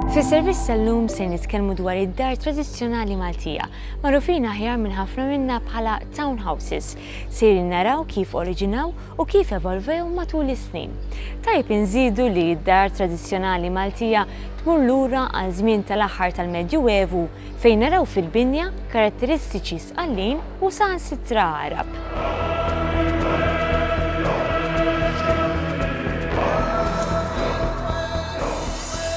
Fis-servizz tal-lum se nitkellmu dwar id-dar tradizzjonali Maltija, magħrufin aħjar minn ħafna minna bħala townhouses. Sejrin naraw kif oriġinaw u kif evolvew matul is-snin. Tajjeb inżidu li d-dar tradizzjonali Maltija tmur lura għal żmien tal-aħħar tal-Medjuevu fejn naraw fil-binja karatteristiċi Sqallin u saħansitra Għarab.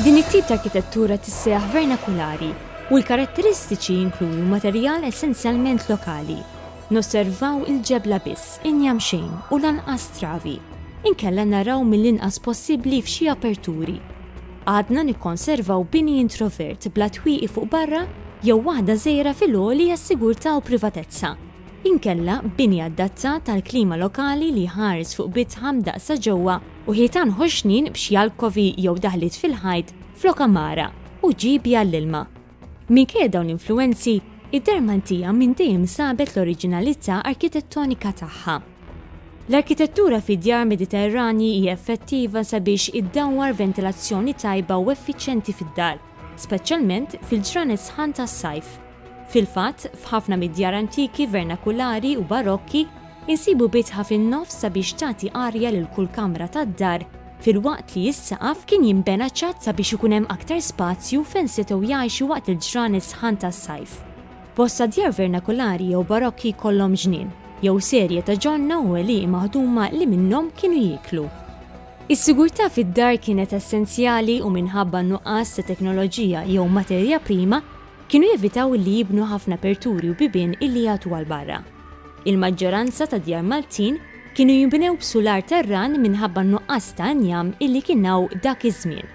Din it-tip ta' arkitettura tissejjaħ vernakulari u l-karatteristiċi jinkludu materjal essenzjalment lokali. Nosservaw il-ġebla biss, injam xejn u lanqas travi. Inkella naraw mill-inqas possibbli f'xi aperturi. Għadna nikkonservaw bini introvert bla twieqi fuq barra jew waħda żgħira fil-għoli għas-sigurtà u privatezza. Inkella bini adattat għall-klima lokali li jħares fuq bitħa mdaqqsa ġewwa u ħitan ħoxnin b'xi alkovi jew daħliet fil-ħajt flok għamara u ġibi għall-ilma. Minkejja dawn l-influwenzi, id-dar Maltija minn dejjem sabet l-oriġinalità arkitettonika tagħha. L-arkitettura fi djar Mediterranji hi effettiva sabiex iddawwar ventilazzjoni tajba u effiċjenti fid-dar, speċjalment fil-ġranet sħan tas-sajf. Fil-fatt, f'ħafna mid-djar antiki vernakulari u barokki, insibu bitħa fin-nofs sabiex tagħti arja lil kull kamra tad-dar filwaqt li s-saqaf kien jinbena ċatt sabiex ikun hemm aktar spazju fejn setgħu jgħixu waqt il-ġranet sħan tas-sajf. Bosta djar vernakulari jew barokki jkollhom ġnien, jew serje ta' ġonna u għelieqi maħduma li minnhom kienu jieklu. Is-sigurtà fid-dar kienet essenzjali u minħabba n-nuqqas ta' teknoloġija jew materja prima, kienu jevitaw illi jibnu ħafna aperturi u bibien illi jagħtu għal barra. Il-maġġoranza tad-djar Maltin kienu jinbnew b'sular terran minħabba n-nuqqas ta' injam illi kien hawn dak iż-żmien.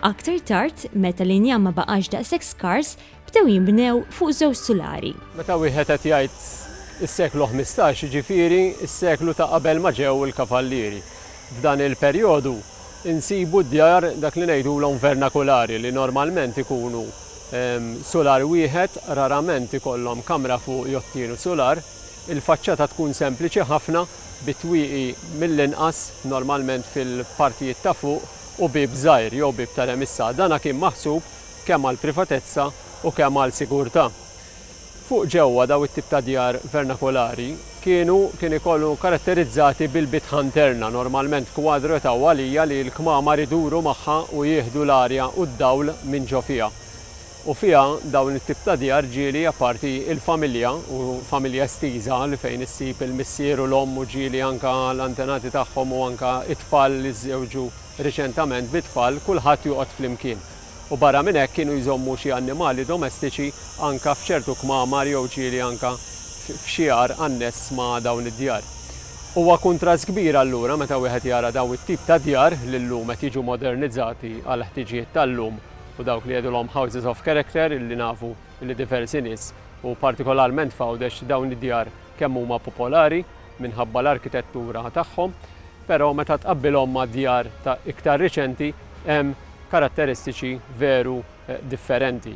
Aktar tard, meta l-injam ma baqax daqshekk skars, bdew jinbnew fuq żewġ sulari. Meta wieħed qed jgħid is-seklu 15, jiġifieri s-seklu ta' qabel ma ġew il-kavallieri. F'dan il-perjodu insibu d-djar dak li ngħidulhom vernakulari li normalment ikunu sular wieħed, rarament ikollhom kamra fuq jew t-tieni sular. Il-faċċata tkun sempliċi ħafna bi twieqi mill-inqas, normalment fil-partijiet ta' fuq, u bieb żgħir jew bieb ta' remissa. Dana kien maħsub kemm għall-privatezza u kemm għal sigurtà. Fuq ġewwa daw it-tip ta' djar vernakolari kienu kien ikollu karatterizzati bil-bitħa interna, normalment kwadru ta' għalija li l-kmamar iduru magħha u jieħdu l-arja u d-dawl minn ġo fiha. U fiha dawn it-tip ta' djar ġieli apparti il-familja u familja estiża li fejn issib il-missier u l-omm u ġieli anka l-antenati tagħhom u anka it-tfal li żżewġu riċentament bit-tfal, kulħadd joqgħod flimkien. U barra minn hekk kienu jżommu xi annimali domestiċi anka f'ċertu kmamar jew ġieli anka f'xi għar anness ma' dawn id-djar. Huwa kuntrast kbir allura meta wieħed jara dawn it-tip ta' djar li llum qed jiġu modernizzati għall-ħtiġijiet tal-lum u dawk li jgħidulhom houses of character illi nafu li diversi nies u partikolarment f'Għawdex dawn id-djar kemm huma popolari minħabba l-arkitettura tagħhom, però meta tqabbilhom ma' djar ta' iktar riċenti hemm karatteristiċi veru differenti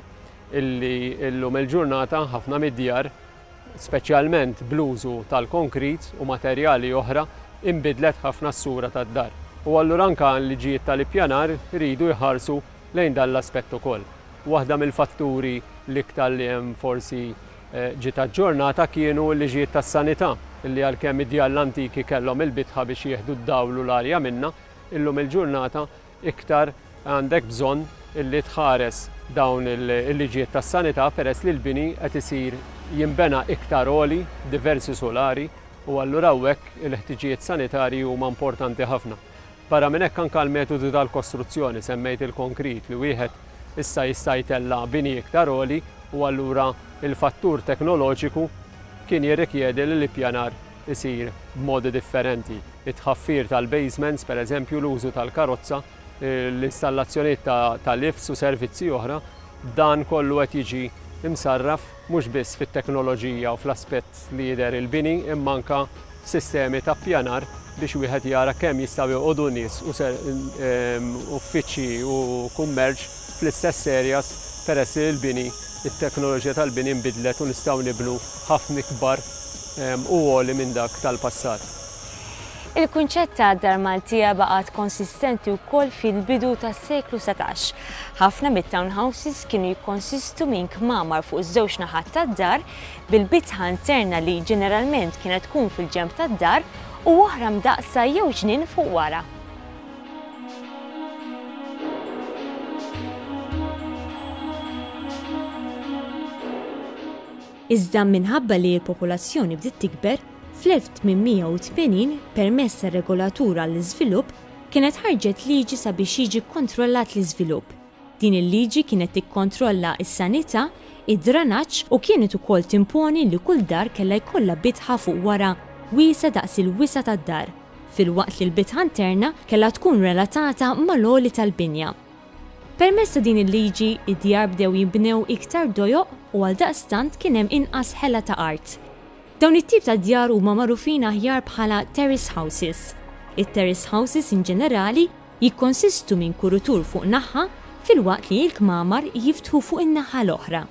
illi llum il-ġurnata ħafna mid-djar, speċjalment bl-użu tal-konkrit u materjali oħra, inbidlet ħafna s-sura tad-dar. U allura anke l-liġijiet tal-ippjanar iridu jħarsu lejn dan l-aspett ukoll. Waħda mill-fatturi l-iktar li hemm forsi ġiet aġġornata kienu l-liġijiet tas-sanità, li għalkemm id-djar l-antiki kellhom il-bitħa biex jieħdu d-dawl u l-arja minnha, illum il-ġurnata iktar għandek bżonn illi tħares dawn il-liġijiet tas-sanità peress li l-bini qed isir jinbena iktar għoli, diversi sulari, u allura hawnhekk il-ħtiġijiet sanitarji huma importanti ħafna. Barra minn hekk anke l-metodu tal-kostruzzjoni, semmejt il-konkrit li wieħed issa jista' jtella' bini iktar għoli u allura l-fattur teknoloġiku kien jirrikjedi li l-ippjanar isir b'modi differenti. It-tħaffir tal-basements, pereżempju, l-użu tal-karozza, l-installazzjonijiet ta' lifts u servizzi oħra, dan kollu qed jiġi msarraf mhux biss fit-teknoloġija u fl-aspett li jidher il-bini imma anke sistemi ta' ppjanar biex wieħed jara kemm jistgħu joqogħdu nies u uffiċċji u kummerċ fl-istess areas peress li l-bini, it-teknoloġija tal-bini nbidlet u nistgħu nibnu ħafna ikbar u għoli minn dak tal-passat. Il-kunċett ta' dar Maltija baqgħet konsistenti wkoll fil-bidu tas-seklu 17. Ħafna mit-townhouses kienu jikkonsistu minn kmamar fuq iż-żewġ naħat tad-dar, bil-bitħa interna li ġeneralment kienet tkun fil-ġenb tad-dar u oħra mdaqqsa jew ġnien fuq wara. Iżda minħabba li l-popolazzjoni bdiet tikber, fl-1880, permezz tar-Regolatur għall-Iżvilupp, kienet ħarġet liġi sabiex jiġi kkontrollat l-iżvilupp. Din il-liġi kienet tikkontrolla s-sanità, id-dranaġġ u kienet ukoll timponi li kull dar kellha jkollha bitħa fuq wara wiesgħa daqs il-wisa' tad-dar, filwaqt li l-bitħa interna kellha tkun relatata mal-għoli tal-binja. Permezz ta' din il-liġi, id-djar bdew jinbnew iktar dojoq u għaldaqstant kien hemm inqas ħela ta' art. Dawn it-tip ta' djar huma magħrufin aħjar bħala terrace houses. It-terrace houses in ġenerali jikkonsistu minn kurutur fuq naħa filwaqt li l-kmamar jiftħu fuq in-naħa l-oħra.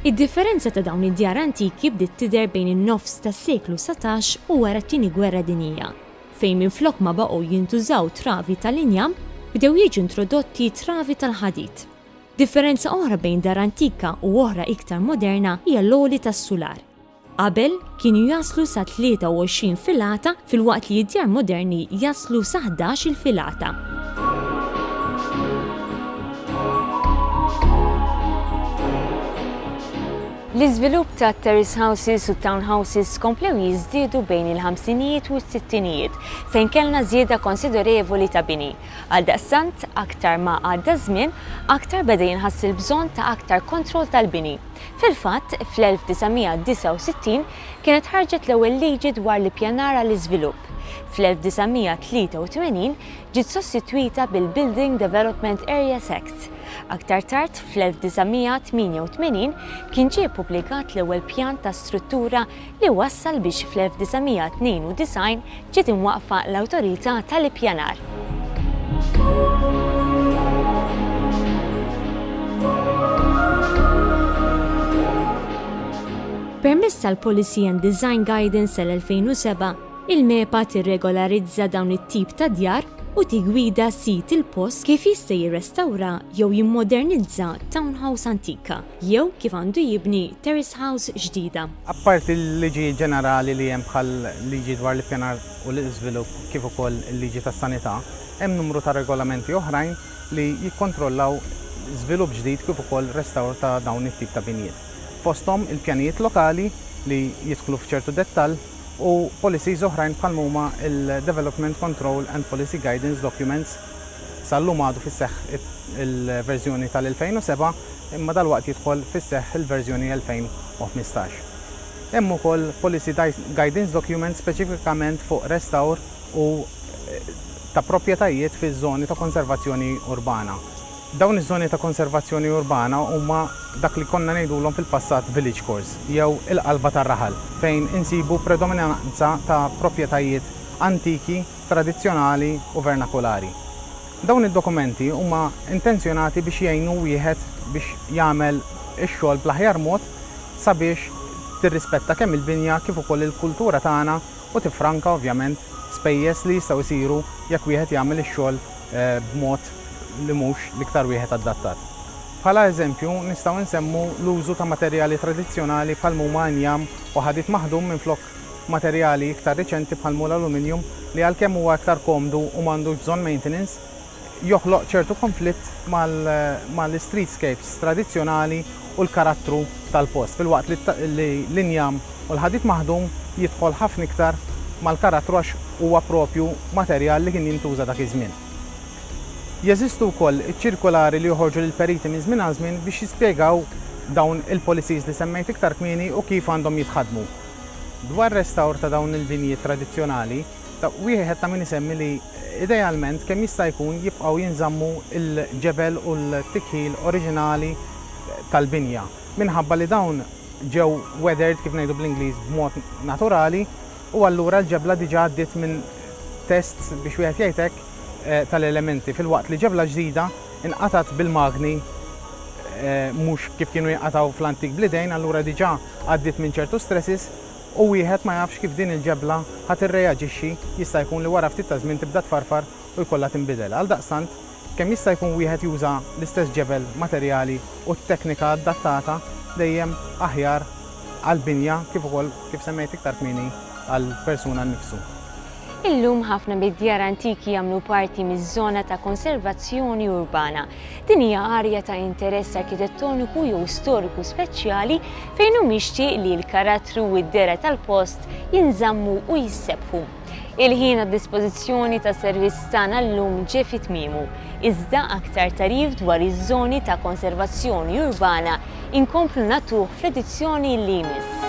Id-differenza ta' dawn id-djar antiki bdiet tidher bejn in-nofs tas-seklu 19 u wara t-Tieni Gwerra Dinjija. fejn minflok ma baqgħu jintużaw travi tal-injam, bdew jiġu introdotti travi tal-ħadid. Differenza oħra bejn dar antika u oħra iktar moderna hija l-għoli tas-sular. Qabel, kienu jaslu sa 23 filata filwaqt li d-djar moderni jaslu sa 11-il filata. L-iżvilupp ta' terrace houses u town houses komplew jiżdiedu bejn il-ħamsinijiet u s-sittinijiet, fejn kellna żieda konsiderevoli ta' bini. Għaldaqstant, aktar ma għadda ż-żmien, aktar beda jinħass il-bżonn ta' aktar kontroll tal-bini. Fil-fatt, fl-1969 kienet ħarġet l-ewwel liġi dwar l-ippjanar għall-iżvilupp. Fl-1983 ġiet sostitwita bil-Building Development Areas Act. Aktar tard, fl-1988, kien ġie ppubblikat l-ewwel pjan ta' struttura li wassal biex fl-1992 ġiet imwaqqfa l-Awtorità tal-Ippjanar. Permezz tal-Policy and Design Guidance tal-2007, Il-MEPA tirregolarizza dawn it-tip ta' djar u tiggwida sid il-post kif jista' jirrestawra jew jimmodernizza townhouse antika jew kif għandu jibni terrace house ġdida. Apparti l-liġijiet ġenerali li hemm bħal liġi dwar l-ippjanar u l-iżvilupp kif ukoll il-liġi tas-sanità, hemm numru ta' regolamenti oħrajn li jikkontrollaw żvilupp ġdid kif ukoll restawr ta' dawn it-tip ta' binjiet. Fosthom il-pjanijiet lokali li jidħlu f'ċertu dettall u policies oħrajn bħal m'huma l-Development Control and Policy Guidance Documents, sal-lum għadu fis-seħħ il-verżjoni tal-2007 imma dalwaqt jidħol fis-seħħ il-verżjoni 2015. Hemm ukoll Policy Guidance Documents speċifikament fuq restawr u ta' proprjetajiet fiż-żoni ta' konservazzjoni urbana. Dawn iż-żoni ta' konservazzjoni urbana huma dak li konna ngħidulhom fil-passat village cores jew il-qalba tar-raħal fejn insibu predominanza ta' proprjetajiet antiki, tradizzjonali u vernakulari. Dawn id-dokumenti huma intenzjonati biex jgħinu wieħed biex jagħmel ix-xogħol bl-aħjar mod sabiex tirrispetta kemm il-binja kif ukoll il-kultura tagħna u tiffranka ovvjament spejjeż li jistgħu jsiru jekk wieħed jagħmel ix-xogħol b'mod li mhux l-iktar wieħed adattat. Bħala eżempju nistgħu nsemmu l-użu ta' materjali tradizzjonali bħal m'huma injam u ħadid maħdum minflok materjali iktar riċenti bħal m'hu l-aluminium li għalkemm huwa iktar komdu u m'għandux bżonn maintenance, joħloq ċertu konflitt mal-istreetscapes tradizzjonali u l-karattru tal-post, filwaqt li l-injam u l-ħadid maħdum jidħol ħafna iktar mal-karattru għax huwa proprju materjal li kien jintuża dak iż-żmien. Jeżistu wkoll iċ-ċirkulari li joħorġu lill-periti minn żmien għal żmien biex jispjegaw dawn il-policies li semmejt iktar kmieni u kif għandhom jitħaddmu. Dwar restawr ta' dawn il-binjiet tradizzjonali, ta' wieħed ta' min isemmi li idealment kemm jista' jkun jibqgħu jinżammu l-ġebel u l-tikħil oriġinali tal-binja minħabba li dawn ġew weathered kif ngħidu bl-Ingliż b'mod naturali u allura l-ġebla diġà għaddiet minn tests biex wieħed jgħid hekk tal-elementi filwaqt li ġebla ġdida nqatgħet bil-magni mhux kif kienu jinqatgħu fl-antik bl-idejn allura diġà għaddiet minn ċertu stresses. u wieħed ma jafx kif din il-ġebla ħa tirreaġixxi, jista' jkun li wara ftit ta' żmien tibda tfarfar u jkollha tinbidel. Għaldaqstant, kemm jista' jkun wieħed juża l-istess ġebel, materjali u t-teknika adattata dejjem aħjar għall-binja kif ukoll, kif semmejt iktar kmieni, għall-persuna nnifsu. Illum ħafna mid-djar antiki jagħmlu parti miż-żona ta' konservazzjoni urbana. Din hija arja ta' interess arkitettoniku jew storiku speċjali fejn hu mixtieq li l-karattru u d-dehra tal-post jinżammu u jissebbħu. Il-ħin għad-dispożizzjoni tas-servizz tagħna llum ġie fi tmiemu, iżda aktar tagħrif dwar iż-żoni ta' konservazzjoni urbana inkomplu nagħtuh fl-edizzjoni li jmiss.